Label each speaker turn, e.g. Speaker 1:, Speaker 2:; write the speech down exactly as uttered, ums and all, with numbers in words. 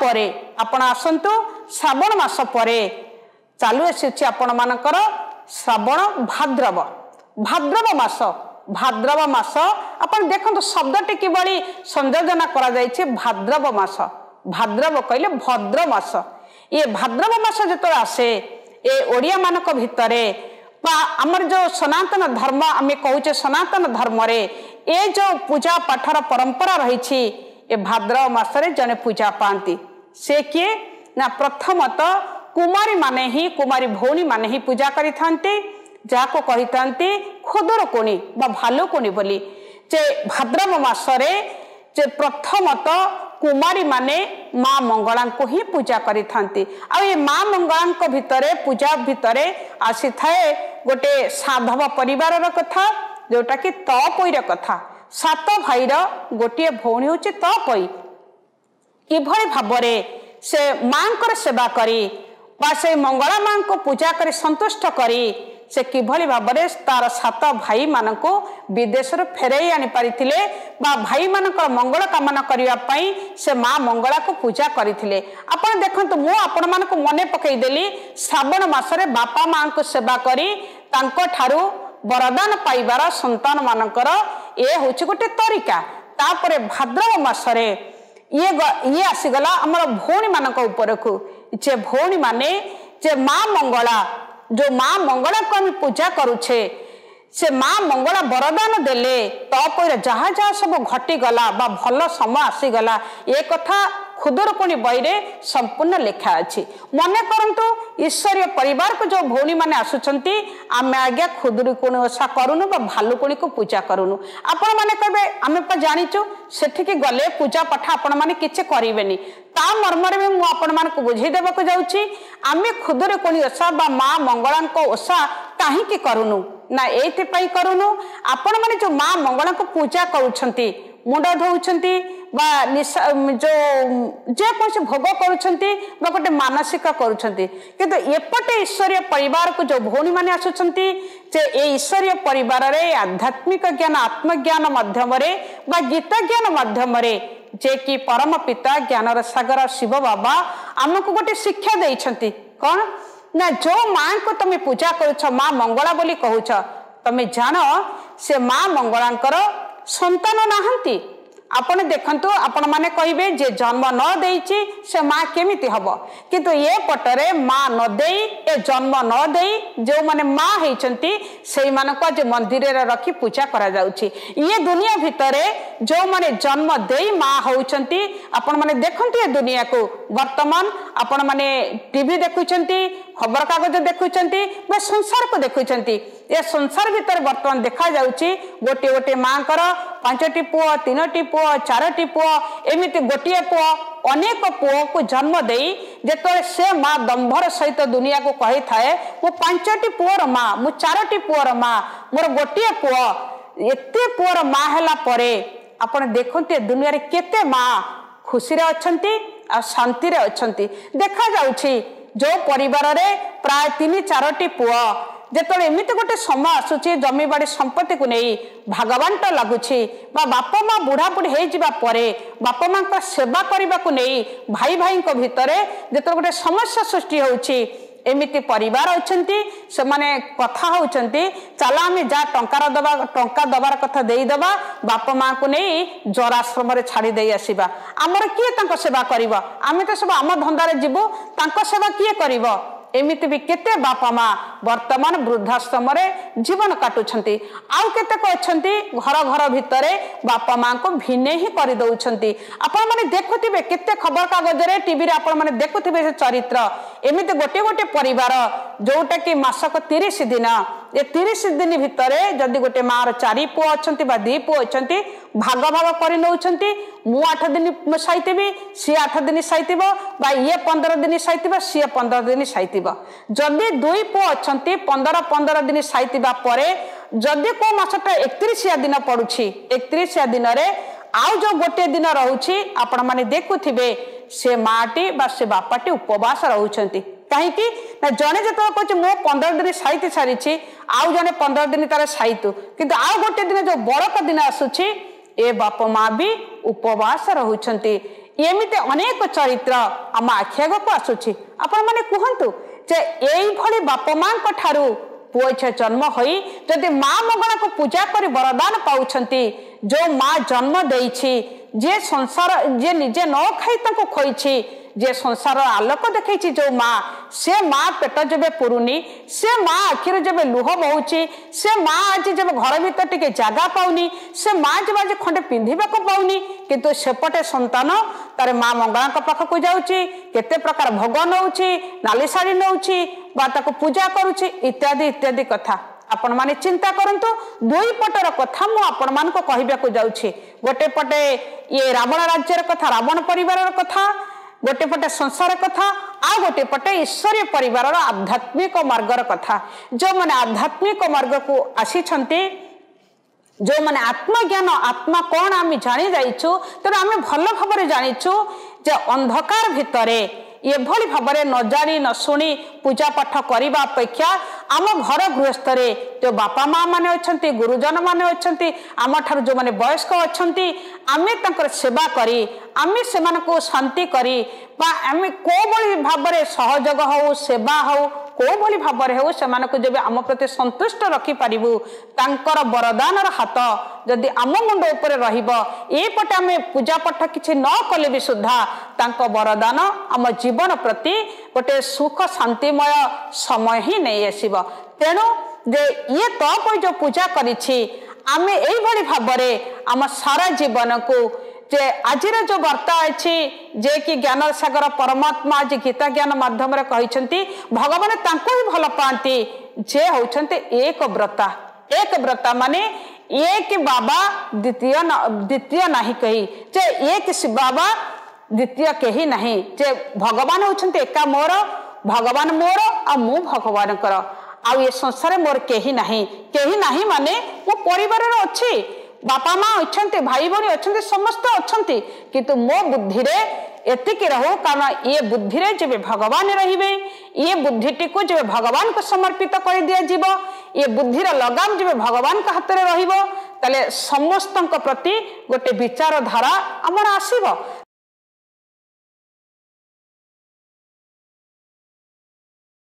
Speaker 1: ତାପରେ ଆପଣ ଆସନ୍ତୁ, ଶ୍ରାବଣ ମାସ ପରେ ଚାଲୁ ଆସିଛି ଆପଣମାନଙ୍କର ଶ୍ରାବଣ ଭାଦ୍ରବ, ଭାଦ୍ରବ ମାସ। ଭାଦ୍ରବ ମାସ ଆପଣ ଦେଖନ୍ତୁ ଶବ୍ଦଟି କିଭଳି ସଂଯୋଜନା କରାଯାଇଛି। ଭାଦ୍ରବ ମାସ, ଭାଦ୍ରବ କହିଲେ ଭଦ୍ର ମାସ। ଇଏ ଭାଦ୍ରବ ମାସ ଯେତେବେଳେ ଆସେ, ଏ ଓଡ଼ିଆମାନଙ୍କ ଭିତରେ ବା ଆମର ଯେଉଁ ସନାତନ ଧର୍ମ ଆମେ କହୁଛେ, ସନାତନ ଧର୍ମରେ ଏ ଯେଉଁ ପୂଜା ପାଠର ପରମ୍ପରା ରହିଛି, ଏ ଭାଦ୍ରବ ମାସରେ ଜଣେ ପୂଜା ପାଆନ୍ତି। ସେ କିଏ ନା ପ୍ରଥମତଃ କୁମାରୀ ମାନେ ହିଁ, କୁମାରୀ ଭଉଣୀ ମାନେ ହିଁ ପୂଜା କରିଥାନ୍ତି, ଯାହାକୁ କହିଥାନ୍ତି ଖୁଦୁରୁକୁଣୀ ବା ଭାଲୁକୁଣୀ ବୋଲି। ଯେ ଭାଦ୍ରବ ମାସରେ ଯେ ପ୍ରଥମତଃ କୁମାରୀ ମାନେ ମା ମଙ୍ଗଳାଙ୍କୁ ହିଁ ପୂଜା କରିଥାନ୍ତି। ଆଉ ଏ ମା ମଙ୍ଗଳାଙ୍କ ଭିତରେ ପୂଜା ଭିତରେ ଆସିଥାଏ ଗୋଟେ ସାଧବ ପରିବାରର କଥା, ଯୋଉଟାକି ତପୋଇର କଥା। ସାତ ଭାଇର ଗୋଟିଏ ଭଉଣୀ ହେଉଛି ତପୋଇ। କିଭଳି ଭାବରେ ସେ ମାଙ୍କର ସେବା କରି ବା ସେ ମଙ୍ଗଳା ମାଙ୍କୁ ପୂଜା କରି ସନ୍ତୁଷ୍ଟ କରି ସେ କିଭଳି ଭାବରେ ତାର ସାତ ଭାଇମାନଙ୍କୁ ବିଦେଶରୁ ଫେରାଇ ଆଣିପାରିଥିଲେ ବା ଭାଇମାନଙ୍କର ମଙ୍ଗଳ କାମନା କରିବା ପାଇଁ ସେ ମା ମଙ୍ଗଳାକୁ ପୂଜା କରିଥିଲେ। ଆପଣ ଦେଖନ୍ତୁ, ମୁଁ ଆପଣମାନଙ୍କୁ ମନେ ପକେଇଦେଲି, ଶ୍ରାବଣ ମାସରେ ବାପା ମାଙ୍କୁ ସେବା କରି ତାଙ୍କଠାରୁ ବରଦାନ ପାଇବାର ସନ୍ତାନମାନଙ୍କର ଏ ହେଉଛି ଗୋଟେ ତରିକା। ତାପରେ ଭାଦ୍ରବ ମାସରେ ଇଏ ଇଏ ଆସିଗଲା ଆମର ଭଉଣୀମାନଙ୍କ ଉପରକୁ, ଯେ ଭଉଣୀମାନେ ଯେ ମା ମଙ୍ଗଳା, ଯୋଉ ମା ମଙ୍ଗଳାକୁ ଆମେ ପୂଜା କରୁଛେ, ସେ ମା ମଙ୍ଗଳା ବରଦାନ ଦେଲେ ତାପରେ ଯାହା ଯାହା ସବୁ ଘଟିଗଲା ବା ଭଲ ସମୟ ଆସିଗଲା, ଏ କଥା ଖୁଦୁରୁକୁଣୀ ବହିରେ ସମ୍ପୂର୍ଣ୍ଣ ଲେଖା ଅଛି। ମନେ କରନ୍ତୁ, ଈଶ୍ୱରୀୟ ପରିବାରକୁ ଯୋଉ ଭଉଣୀମାନେ ଆସୁଛନ୍ତି, ଆମେ ଆଜ୍ଞା ଖୁଦୁରୁକୁଣୀ ଓଷା କରୁନୁ ବା ଭାଲୁକୁଣୀକୁ ପୂଜା କରୁନୁ। ଆପଣମାନେ କହିବେ ଆମେ ପା ଜାଣିଛୁ, ସେଠିକି ଗଲେ ପୂଜା ପାଠ ଆପଣମାନେ କିଛି କରିବେନି। ତା ମର୍ମରେ ବି ମୁଁ ଆପଣମାନଙ୍କୁ ବୁଝେଇ ଦେବାକୁ ଯାଉଛି, ଆମେ ଖୁଦୁରୁକୁଣୀ ଓଷା ବା ମା ମଙ୍ଗଳାଙ୍କ ଓଷା କାହିଁକି କରୁନୁ ନା ଏଇଥିପାଇଁ କରୁନୁ, ଆପଣମାନେ ଯୋଉ ମା ମଙ୍ଗଳାଙ୍କୁ ପୂଜା କରୁଛନ୍ତି, ମୁଣ୍ଡ ଧୋଉଛନ୍ତି ବା ନିଶା ଯୋଉ ଯେକୌଣସି ଭୋଗ କରୁଛନ୍ତି ବା ଗୋଟେ ମାନସିକ କରୁଛନ୍ତି, କିନ୍ତୁ ଏପଟେ ଈଶ୍ୱରୀୟ ପରିବାରକୁ ଯୋଉ ଭଉଣୀମାନେ ଆସୁଛନ୍ତି, ଯେ ଏ ଈଶ୍ୱରୀୟ ପରିବାରରେ ଆଧ୍ୟାତ୍ମିକ ଜ୍ଞାନ, ଆତ୍ମଜ୍ଞାନ ମାଧ୍ୟମରେ ବା ଗୀତା ଜ୍ଞାନ ମାଧ୍ୟମରେ ଯେ କି ପରମ ପିତା ଜ୍ଞାନର ସାଗର ଶିବ ବାବା ଆମକୁ ଗୋଟେ ଶିକ୍ଷା ଦେଇଛନ୍ତି। କଣ ନା ଯୋଉ ମାଙ୍କୁ ତମେ ପୂଜା କରୁଛ, ମା ମଙ୍ଗଳା ବୋଲି କହୁଛ, ତମେ ଜାଣ ସେ ମା ମଙ୍ଗଳାଙ୍କର ସନ୍ତାନ ନାହାନ୍ତି। ଆପଣ ଦେଖନ୍ତୁ, ଆପଣମାନେ କହିବେ ଯେ ଜନ୍ମ ନ ଦେଇଛି ସେ ମା କେମିତି ହବ? କିନ୍ତୁ ଏ ପଟରେ ମା ନ ଦେଇ, ଏ ଜନ୍ମ ନ ଦେଇ ଯେଉଁମାନେ ମା ହେଇଛନ୍ତି, ସେଇମାନଙ୍କୁ ଆଜି ମନ୍ଦିରରେ ରଖି ପୂଜା କରାଯାଉଛି। ଇଏ ଦୁନିଆ ଭିତରେ ଯେଉଁମାନେ ଜନ୍ମ ଦେଇ ମା ହଉଛନ୍ତି, ଆପଣମାନେ ଦେଖନ୍ତୁ ଏ ଦୁନିଆକୁ ବର୍ତ୍ତମାନ ଆପଣମାନେ ଟିଭି ଦେଖୁଛନ୍ତି, ଖବରକାଗଜ ଦେଖୁଛନ୍ତି ବା ସଂସାରକୁ ଦେଖୁଛନ୍ତି। ଏ ସଂସାର ଭିତରେ ବର୍ତ୍ତମାନ ଦେଖାଯାଉଛି ଗୋଟିଏ ଗୋଟିଏ ମାଙ୍କର ପାଞ୍ଚଟି ପୁଅ, ତିନୋଟି ପୁଅ, ଚାରୋଟି ପୁଅ, ଏମିତି ଗୋଟିଏ ପୁଅ, ଅନେକ ପୁଅକୁ ଜନ୍ମ ଦେଇ ଯେତେବେଳେ ସେ ମା ଦମ୍ଭର ସହିତ ଦୁନିଆକୁ କହିଥାଏ, ମୁଁ ପାଞ୍ଚଟି ପୁଅର ମା, ମୁଁ ଚାରୋଟି ପୁଅର ମା, ମୋର ଗୋଟିଏ ପୁଅ, ଏତେ ପୁଅର ମା ହେଲା ପରେ ଆପଣ ଦେଖନ୍ତୁ ଏ ଦୁନିଆରେ କେତେ ମା ଖୁସିରେ ଅଛନ୍ତି ଆଉ ଶାନ୍ତିରେ ଅଛନ୍ତି। ଦେଖାଯାଉଛି ଯୋଉ ପରିବାରରେ ପ୍ରାୟ ତିନି ଚାରୋଟି ପୁଅ, ଯେତେବେଳେ ଏମିତି ଗୋଟେ ସମୟ ଆସୁଛି ଜମିବାଡ଼ି ସମ୍ପତ୍ତିକୁ ନେଇ ଭାଗବାଣ୍ଟ ଲାଗୁଛି ବା ବାପା ମା ବୁଢ଼ାବୁଢ଼ୀ ହେଇଯିବା ପରେ ବାପା ମାଙ୍କ ସେବା କରିବାକୁ ନେଇ ଭାଇ ଭାଇଙ୍କ ଭିତରେ ଯେତେବେଳେ ଗୋଟେ ସମସ୍ୟା ସୃଷ୍ଟି ହେଉଛି, ଏମିତି ପରିବାର ଅଛନ୍ତି ସେମାନେ କଥା ହଉଛନ୍ତି, ଚାଲ ଆମେ ଯାହା ଟଙ୍କାର ଦବା, ଟଙ୍କା ଦବାର କଥା ଦେଇଦବା, ବାପା ମାଙ୍କୁ ନେଇ ଜରାଶ୍ରମରେ ଛାଡ଼ି ଦେଇ ଆସିବା, ଆମର କିଏ ତାଙ୍କ ସେବା କରିବ, ଆମେ ତ ସବୁ ଆମ ଧନ୍ଦାରେ ଯିବୁ, ତାଙ୍କ ସେବା କିଏ କରିବ? ଏମିତି ବି କେତେ ବାପା ମା ବର୍ତ୍ତମାନ ବୃଦ୍ଧାଶ୍ରମରେ ଜୀବନ କାଟୁଛନ୍ତି। ଆଉ କେତେକ ଅଛନ୍ତି ଘର ଘର ଭିତରେ ବାପା ମାଙ୍କୁ ଭିନେ ହିଁ କରିଦଉଛନ୍ତି। ଆପଣମାନେ ଦେଖୁଥିବେ କେତେ ଖବରକାଗଜରେ, ଟିଭିରେ ଆପଣମାନେ ଦେଖୁଥିବେ ସେ ଚରିତ୍ର। ଏମିତି ଗୋଟିଏ ଗୋଟିଏ ପରିବାର ଯୋଉଟା କି ମାସକ ତିରିଶ ଦିନ, ଏ ତିରିଶ ଦିନ ଭିତରେ ଯଦି ଗୋଟେ ମାର ଚାରି ପୁଅ ଅଛନ୍ତି ବା ଦି ପୁଅ ଅଛନ୍ତି, ଭାଗ ଭାଗ କରି ନେଉଛନ୍ତି। ମୁଁ ଆଠ ଦିନ ସାଇଥିବି, ସିଏ ଆଠ ଦିନ ସାଇଥିବ, ବା ଇଏ ପନ୍ଦର ଦିନ ସାଇଥିବ, ସିଏ ପନ୍ଦର ଦିନ ସାଇଥିବ। ଯଦି ଦୁଇ ପୁଅ ଅଛନ୍ତି, ପନ୍ଦର ପନ୍ଦର ଦିନ ସାଇଥିବା ପରେ ଯଦି କୋଉ ମାସଟା ଏକତିରିଶିଆ ଦିନ ପଡୁଛି, ଏକତିରିଶିଆ ଦିନରେ ଆଉ ଯୋଉ ଗୋଟିଏ ଦିନ ରହୁଛି, ଆପଣମାନେ ଦେଖୁଥିବେ ସେ ମାଟି ବା ସେ ବାପାଟି ଉପବାସ ରହୁଛନ୍ତି। କାହିଁକି ନା ଜଣେ ଯେତେବେଳେ କହୁଛି ମୁଁ ପନ୍ଦର ଦିନ ସାଇତି ସାରିଛି, ଆଉ ଜଣେ ପନ୍ଦର ଦିନ ତାର ସାଇତୁ, କିନ୍ତୁ ଆଉ ଗୋଟେ ଦିନ ଯୋଉ ବଳକା ଦିନ ଆସୁଛି, ଏ ବାପ ମା ବି ଉପବାସ ରହୁଛନ୍ତି। ଏମିତି ଅନେକ ଚରିତ୍ର ଆମ ଆଖି ଆଗକୁ ଆସୁଛି। ଆପଣମାନେ କୁହନ୍ତୁ ଯେ ଏଇଭଳି ବାପା ମାଙ୍କ ଠାରୁ ପୁଅ ଝିଅ ଜନ୍ମ ହୋଇ ଯଦି ମା ମଙ୍ଗଳାକୁ ପୂଜା କରି ବରଦାନ ପାଉଛନ୍ତି, ଯୋଉ ମା ଜନ୍ମ ଦେଇଛି, ଯିଏ ସଂସାର, ଯିଏ ନିଜେ ନ ଖାଇ ତାଙ୍କୁ ଖୋଇଛି, ଯିଏ ସଂସାର ଆଲୋକ ଦେଖେଇଛି ଯୋଉ ମା, ସେ ମା ପେଟ ଯେବେ ପୁରୁନି, ସେ ମା ଆଖିରୁ ଯେବେ ଲୁହ ବହୁଛି, ସେ ମା ଆଜି ଯେବେ ଘର ଭିତରେ ଟିକେ ଜାଗା ପାଉନି, ସେ ମା ଯେବେ ଆଜି ଖଣ୍ଡେ ପିନ୍ଧିବାକୁ ପାଉନି, କିନ୍ତୁ ସେପଟେ ସନ୍ତାନ ତାର ମା ମଙ୍ଗଳାଙ୍କ ପାଖକୁ ଯାଉଛି, କେତେ ପ୍ରକାର ଭୋଗ ନଉଛି, ନାଲି ଶାଢ଼ୀ ନଉଛି ବା ତାକୁ ପୂଜା କରୁଛି, ଇତ୍ୟାଦି ଇତ୍ୟାଦି କଥା। ଆପଣମାନେ ଚିନ୍ତା କରନ୍ତୁ, ଦୁଇ ପଟର କଥା ମୁଁ ଆପଣମାନଙ୍କୁ କହିବାକୁ ଯାଉଛି। ଗୋଟେ ପଟେ ଇଏ ରାବଣ ରାଜ୍ୟର କଥା, ରାବଣ ପରିବାରର କଥା, ଗୋଟେ ପଟେ ସଂସାର କଥା, ଆଉ ଗୋଟେ ପଟେ ଈଶ୍ୱରୀୟ ପରିବାରର ଆଧ୍ୟାତ୍ମିକ ମାର୍ଗର କଥା। ଯେଉଁମାନେ ଆଧ୍ୟାତ୍ମିକ ମାର୍ଗକୁ ଆସିଛନ୍ତି, ଯେଉଁମାନେ ଆତ୍ମଜ୍ଞାନ, ଆତ୍ମା କ'ଣ ଆମେ ଜାଣି ଯାଇଛୁ, ତେଣୁ ଆମେ ଭଲ ଭାବରେ ଜାଣିଛୁ ଯେ ଅନ୍ଧକାର ଭିତରେ ଏଭଳି ଭାବରେ ନ ଜାଣି ନ ଶୁଣି ପୂଜା ପାଠ କରିବା ଅପେକ୍ଷା ଆମ ଘର ଗୃହସ୍ଥରେ ଯେଉଁ ବାପା ମା ମାନେ ଅଛନ୍ତି, ଗୁରୁଜନ ମାନେ ଅଛନ୍ତି, ଆମଠାରୁ ଯେଉଁମାନେ ବୟସ୍କ ଅଛନ୍ତି, ଆମେ ତାଙ୍କର ସେବା କରି, ଆମେ ସେମାନଙ୍କୁ ଶାନ୍ତି କରି ବା ଆମେ କୋଉଭଳି ଭାବରେ ସହଯୋଗ ହଉ, ସେବା ହଉ, କୋଉଭଳି ଭାବରେ ହେଉ, ସେମାନଙ୍କୁ ଯେବେ ଆମ ପ୍ରତି ସନ୍ତୁଷ୍ଟ ରଖିପାରିବୁ, ତାଙ୍କର ବରଦାନର ହାତ ଯଦି ଆମ ମୁଣ୍ଡ ଉପରେ ରହିବ, ଏପଟେ ଆମେ ପୂଜା ପାଠ କିଛି ନ କଲେ ବି ସୁଦ୍ଧା ତାଙ୍କ ବରଦାନ ଆମ ଜୀବନ ପ୍ରତି ଗୋଟେ ସୁଖ ଶାନ୍ତିମୟ ସମୟ ହିଁ ନେଇ ଆସିବ। ତେଣୁ ଯେ ଇଏ ତପୋଇ ଯୋଉ ପୂଜା କରିଛି, ଆମେ ଏଇଭଳି ଭାବରେ ଆମ ସାରା ଜୀବନକୁ ଯେ ଆଜିର ଯୋଉ ବାର୍ତ୍ତା ଅଛି ଯେ କି ଜ୍ଞାନ ସାଗର ପରମାତ୍ମା ଆଜି ଗୀତା ଜ୍ଞାନ ମାଧ୍ୟମରେ କହିଛନ୍ତି, ଭଗବାନ ତାଙ୍କୁ ହିଁ ଭଲ ପାଆନ୍ତି ଯେ ହଉଛନ୍ତି ଏକ ବ୍ରତା। ଏକ ବ୍ରତା ମାନେ ଏକ ବାବା ଦ୍ୱିତୀୟ ଦ୍ୱିତୀୟ ନାହିଁ କେହି, ଯେ ଏକ ବାବା ଦ୍ୱିତୀୟ କେହି ନାହିଁ, ଯେ ଭଗବାନ ହଉଛନ୍ତି ଏକା ମୋର, ଭଗବାନ ମୋର ଆଉ ମୁଁ ଭଗବାନଙ୍କର, ଆଉ ଏ ସଂସାରରେ ମୋର କେହି ନାହିଁ। କେହି ନାହିଁ ମାନେ ମୋ ପରିବାରର ଅଛି, ବାପା ମା ଅଛନ୍ତି, ଭାଇ ଭଉଣୀ ଅଛନ୍ତି, ସମସ୍ତେ ଅଛନ୍ତି, କିନ୍ତୁ ମୋ ବୁଦ୍ଧିରେ ଏତିକି ରହୁ। କାରଣ ଇଏ ବୁଦ୍ଧିରେ ଯେବେ ଭଗବାନ ରହିବେ, ଇଏ ବୁଦ୍ଧିଟିକୁ ଯେବେ ଭଗବାନଙ୍କୁ ସମର୍ପିତ କରିଦିଆଯିବ, ଇଏ ବୁଦ୍ଧିର ଲଗାମ ଯେବେ ଭଗବାନଙ୍କ ହାତରେ ରହିବ, ତାହେଲେ ସମସ୍ତଙ୍କ ପ୍ରତି ଗୋଟେ ବିଚାରଧାରା ଆମର ଆସିବ।